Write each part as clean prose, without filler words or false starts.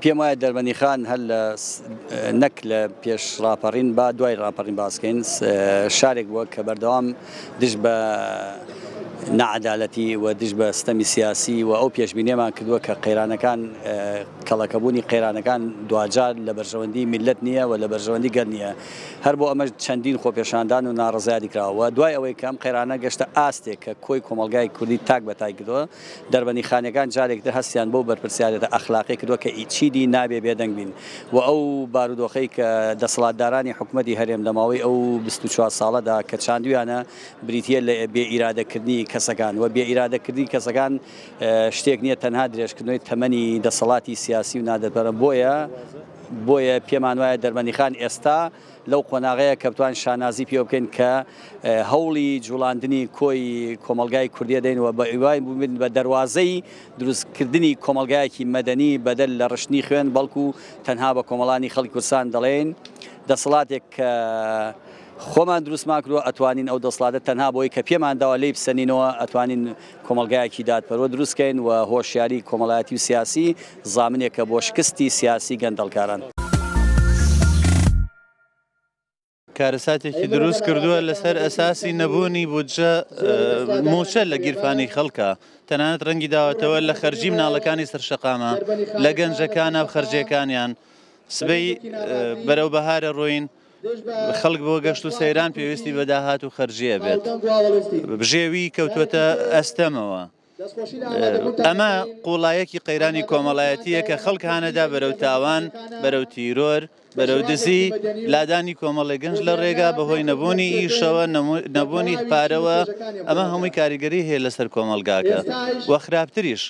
پێم وایە دەربەندیخان هەر لە نەک لە پێش ڕاپەڕین با دوای ڕاپەڕین باسکەین شارێک بووە کە بەردەوام دژ بە نەعەدالەتی و دژ بە ستەمی سیاسی و ئەو پێشبینیەمان کردووە کە قەیرانەکان کەڵەکەبوونی قەیرانەکان دواجار لە بەرژەوەندی میللەت نییە و لە بەرژەوەندی گەل نییە هەر بۆ ئەمەش چەندین خۆپێشاندان و ناڕەزایەتی کراوە و دوای ئەوەی کە ئەم قەیرانە گەشتە ئاستێک کە کۆی کۆمەڵگای کوردی تاک بە تاک کردووە دەربەندیخانیەکان جارێکی تر هەستیان بەو بەرپرسیارێتە ئەخلاقیە کردووە کە چیدی نابێ بێدەنگ بین و ئەو بارودۆخەی کە دەسەڵاتدارانی حکومەتی هەرێم لە ماوەی ئەو 24 ساڵەدا کە چاندویانە بریتیە لە بێ ئیرادەکردنی کەسەکان و بێ ئیرادەکردنی کەسەکان شتێک نییە تەنها درێژکردنەوەی تەمەنی دەسەڵاتی سیاسی و نادەدپەرە بۆیە بۆیە پێمان وایە دەربەندیخان ئێستا لەو قۆناغەیە کە بتوانین شانازی پێوە بکەین کە هەوڵی جوڵاندنی کۆی کۆمەڵگای کوردیە دەین و بە هیوای بووین بە دەروازەی دروستکردنی کۆمەڵگایەکی مەدەنی بەدەر لە ڕشتنی خوێن بەڵکو تەنها بە کۆمەڵانی خەڵکی کوردستان دەڵێین دەسەڵاتێک کە خۆمان دروستمان کردووە ئەتوانین ئەو دەسڵاتە تەنها بۆی کە پێمان داوە لێی بسەنینەوە ئەتوانین کۆمەڵگایەکی دادپەروەر دروست کەین و هۆشیاری کۆمەڵایەتی و سیاسی زامنێکە بۆ شکستی سیاسی گەندەڵکاران. کارەساتێکی دروست کردووە لەسەر ئەساسی نەبوونی بودجە موچە لە گیرفانی خەڵکە تەنانەت ڕەنگی داوەتەوە لە خەرجی مناڵەکانی سەر شەقامە لە گەنجەکانە و خەرجیەکانیان سبەی بەرەو بەهارە ڕۆین خەڵک بۆ گەشت و سەیران پێویستی بە داهات و خەرجیە بێت بژێوی کەوتووەتە ئەستەمەوە. ئەمە قوڵایەکی قەیرانی کۆمەڵایەتیە کە خەڵک هانەدا بەرەو تاوان، بەرەو تیرۆر، بەرەو دزی، لادانی کۆمەڵێک گەنج لە ڕێگا بەهۆی نەبوونی ئیشەوە، نەبوونی پارەوە، ئەمە هەمووی کاریگەری هەیە لەسەر کۆمەڵگاکە و خراپتریش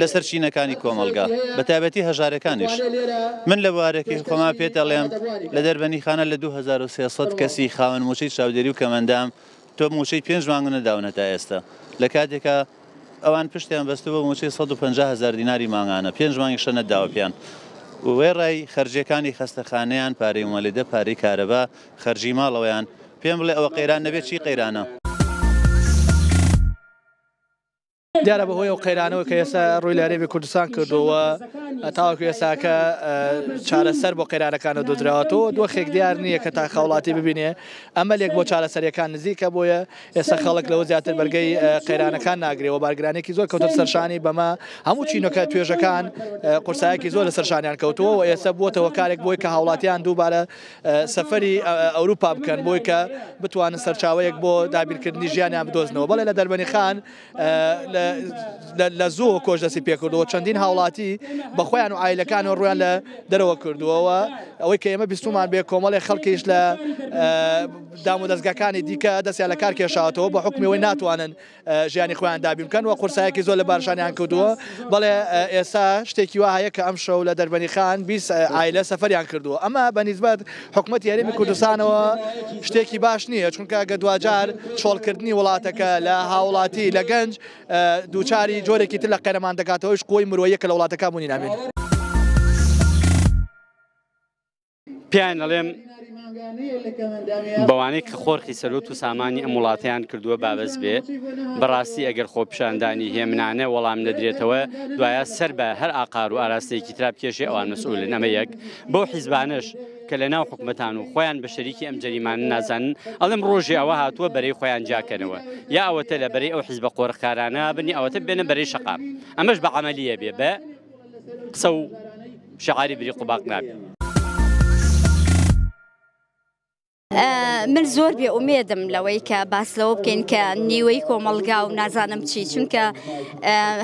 لەسەر چینەکانی کۆمەڵگا بە تایبەتی هەژارەکانیش. من لە بوارەکەی خۆما پێت ئەڵێم لە دەربەنیخانە لە 2300 کەسی خاوەن موچەی چاودێری و کەمەندام تۆ موچەی پێنج مانگ نەداون هەتا ئێستا لە کاتێکا ئەوان پشتیان بەستووە بە موچەی 150 هەزار دیناری مانگانە پێنج مانگیشە نەداوە پێیان وێڕای خەرجیەکانی خەستەخانەیان پارەی موەلیدە پارەی کارەبا خەرجی ماڵەوەیان پێم بڵێ ئەوە قەیران نەبێت چی قەیرانە؟ دیارە بەهۆی ئەو قەیرانەوە کە ئێستا ڕووی لە هەرێمی کوردستان کردووە تاوەکو ئێستاکە چارەسەر بۆ قەیرانەکانە دۆزراوەتەوە دۆخێک دیار نییە کە تا خەوڵاتی ببینێ ئەمەلێک بۆ چارەسەریەکان نزیکە بۆیە ئێستا خەڵک لەوە زیاتر بەرگەی قەیرانەکان ناگرێەوە بارگرانێکی زۆر کەوتە سەرشانی بەمە هەموو چینەکە توێژەکان قورسایەکی زۆر لەسەر شانیان کەوتووە و ئێستا بووەتە هۆکارێک بۆی کە هاوڵاتیان دووبارە سەفەری ئەوروپا بکەن بۆی کە بتوانن سەرچاوەیەک بۆ دابینکردنی ژیانیان بدۆزنەوە بەڵێ لە دەربەنی خان لە زوو کۆچ دەستی پێکردەوە چەندین هاوڵاتی بە خۆیان و ئایلەکان و ڕویان لە دەرەوە کردووەوە ئەوەی کە ئێمە بیستومان بێ کۆمەڵی خەڵکیش لە دام و دەستگاکانی دیکە دەستیان لە کار کێشاوەتەوە بە حکومی ناتوانن ژیانی خۆیان دابین بکەن و قورسایەکی زۆر لە بارشانیان کردووە بەڵێ ئێستا شتێکی وا هەیە کە ئەم شەو لە دەربەنی خان 20 عایلە سەفەریان کردووە ئەمە بە نیسبەت حکومەتی هەرێمی کوردستانەوە شتێکی باش نییە چونکە گە دواجار چۆڵکردنی وڵاتەکە لە هاوڵاتی لە گەنج دووچاری جۆرێکی تر لە قەیرەمان دەکاتەوەش قوەی مرۆیەکە لە وڵاتەکە بوونی نامێنێت. پێیان ئەڵێم بەوانەی کە خۆرخی سەرۆت و سامانی ئەم وڵاتیان کردووە بابەس بێ بەڕاستی ئەگەر خۆپیشاندانی هێمنانە وەڵام نەدرێتەوە دوایە سەر بە هەر ئاقار و ئاراستەیەکی ترا بکێشێ ئەوان مەسئولن ئەمە یەک بەو حیزبانەش کە لە ناو حکومەتان و خۆیان بە شەریکی ئەم جەریمانە نازانن ئەڵێم ڕۆژێ ئەوە هاتووە بەرەی خۆیان جیاکەنەوە یا ئەوەتە لە بەرەی ئەو حیزبە قۆرخکارانە بن یا ئەوەتە بێنە بەرەی شەقام ئەمەش بە عەمەلیە بێ بە قسە و شعاری بریق و باق نابێ. من زۆر بێ ئومێدم لەوەی کە باس لەوە بکەین کە نیوەی کۆمەڵگا و نازانم چی چونکە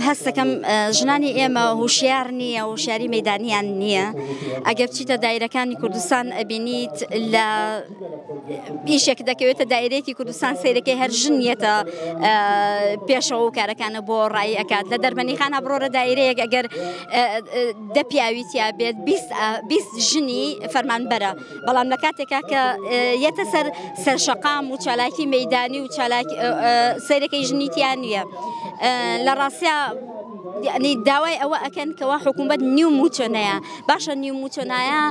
هەستەکەم ژنانی ئێمە هوشیار نییە هوشیاری مەدانیان نییە ئەگەر بچیتە دایرەکانی کوردستان ئەبینیت لە ئیشێک دەکەوێتە دایرەیەکی کوردستان سیرەکەی هەر ژن نیەتە پێشەوە و کارەکانە بۆ ڕایی ئەکات لە دەربەنیخانە بڕۆرە دایرەیەک ئەگەر دە پیاوی تیا بێت 20 ژنی فەرمانبەرە بەڵام لە کاتێکا کە یەتە سەر سەرشەقام و چالاکی مەدانی و چالاکی سەیرەکەی ژنی تیا نییە لە ڕاستیا یعنی داوای ئەوە ئەکەن کەوا حکوومەت نیو موچە نەیە باشە نیو موچە نایە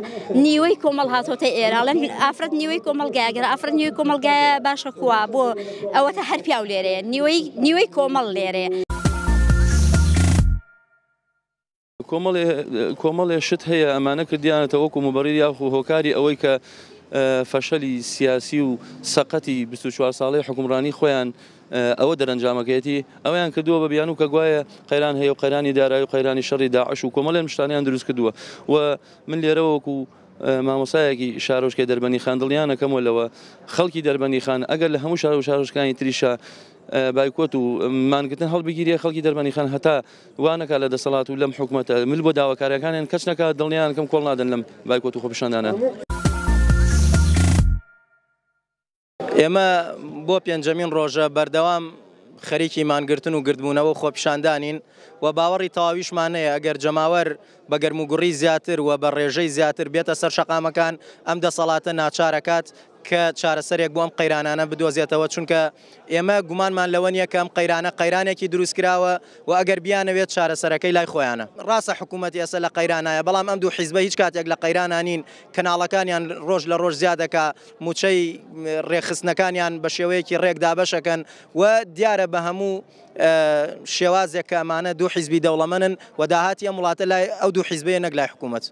نیوەی کۆمەڵ هاتۆتە ئێرە ئەڵێن ئافرەت نیوەی کۆمەڵگایە گەر ئافرەت نیوەی کۆمەڵگایە باشە کوا بۆ ئەوەتە هەر پیاو لێرەیە نیوەی نیوەی کۆمەڵ لێرەیە. کۆمەڵێ کۆمەڵێ شت هەیە ئەمانە کردیانەتە وەکو موبەڕیر یاخو هۆکاری ئەوەی کە فەشەلی سیاسی و سەقەتی 24 ساڵەی حوکمڕانی خۆیان ئەوە دەرەنجامەکەیەتی ئەویان کردووە بە بیانوو کە گوایە قەیران هەیە و قەیرانی دارایی و قەیرانی شەڕی داعش و کۆمەڵێ شتانیان دروست کردووە و من لێرەوە وەکو مامۆستایەکی شارۆچکەی دەربەندیخان دڵنیانەکەمەوە لەوە خەڵکی دەربەندیخان ئەگەر لە هەموو شار و شارۆچکانی تریشا بایکۆت و مانگرتن هەڵبگیرێ خەڵکی دەربەندیخان هەتا وا نەکا لە دەسەڵات و لەم حکومەتە مل بۆ داواکاریەکانیان کەچ نەکا دڵنیانکەم کۆڵ نادەن لەم بایکۆت و خۆپیشاندانە. ئێمە بۆ پێنجەمین ڕۆژە بەردەوام خەریکی مانگرتن و گردبوونەوە و خۆپیشاندانین و باوەڕی تەواویشمان هەیە ئەگەر جەماوەر بە گەرموگوڕی زیاتر و بە ڕێژەی زیاتر بێتە سەر شەقامەکان ئەم دەسەڵاتە ناچارەکات کە چارەسەرێک بۆ ئەم قەیرانانە بدۆزێتەوە چونکە ئێمە گومانمان لەوە نییە کە ئەم قەیرانە قەیرانێکی دروستکراوە و ئەگەر بیانەوێت چارەسەرەکەی لای خۆیانە. ڕاستە حکوومەت ئێستا لە قەیرانایە بەڵام ئەم دوو حیزبە هیچ کاتێک لە قەیرانا نین، کەناڵەکانیان ڕۆژ لە ڕۆژ زیاد دەکا، مووچەی ڕێکخستنەکانیان بە شێوەیەکی ڕێک دابەش ئەکەن و دیارە بە هەموو شێوازێک کە ئەمانە دوو حیزبی دەوڵەمەنن و داهاتی ئەم وڵاتە لای ئەو دوو حیزبەیە نەک لای حکوومەت.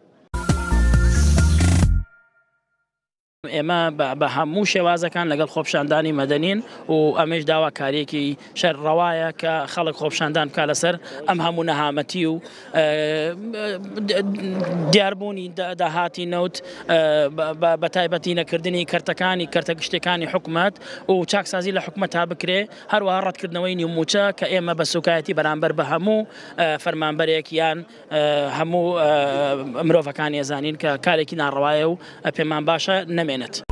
ئێمە بە هەموو شێوازەکان لەگەڵ خۆپیشاندانی مەدەنین و ئەمەیش داواکارییەکی شەر ڕەوایە کە خەڵک خۆپیشاندان بکا لەسەر ئەم هەموو نەهامەتی و دیاربوونی داهاتی نەوت بە تایبەتی نەکردنی کەرتەکانی کەرتە گشتەکانی حکومەت و چاکسازی لە حکومەت تا بکرێ هەروەها ڕەتکردنەوەی نیوموچە کە ئێمە بە سوکایەتی بەرامبەر بە هەموو فەرمانبەرێک یان هەموو مرۆڤەکانی ئەزانین کە کارێکی ناڕەوایە و پێمان باشە نەمێنێت.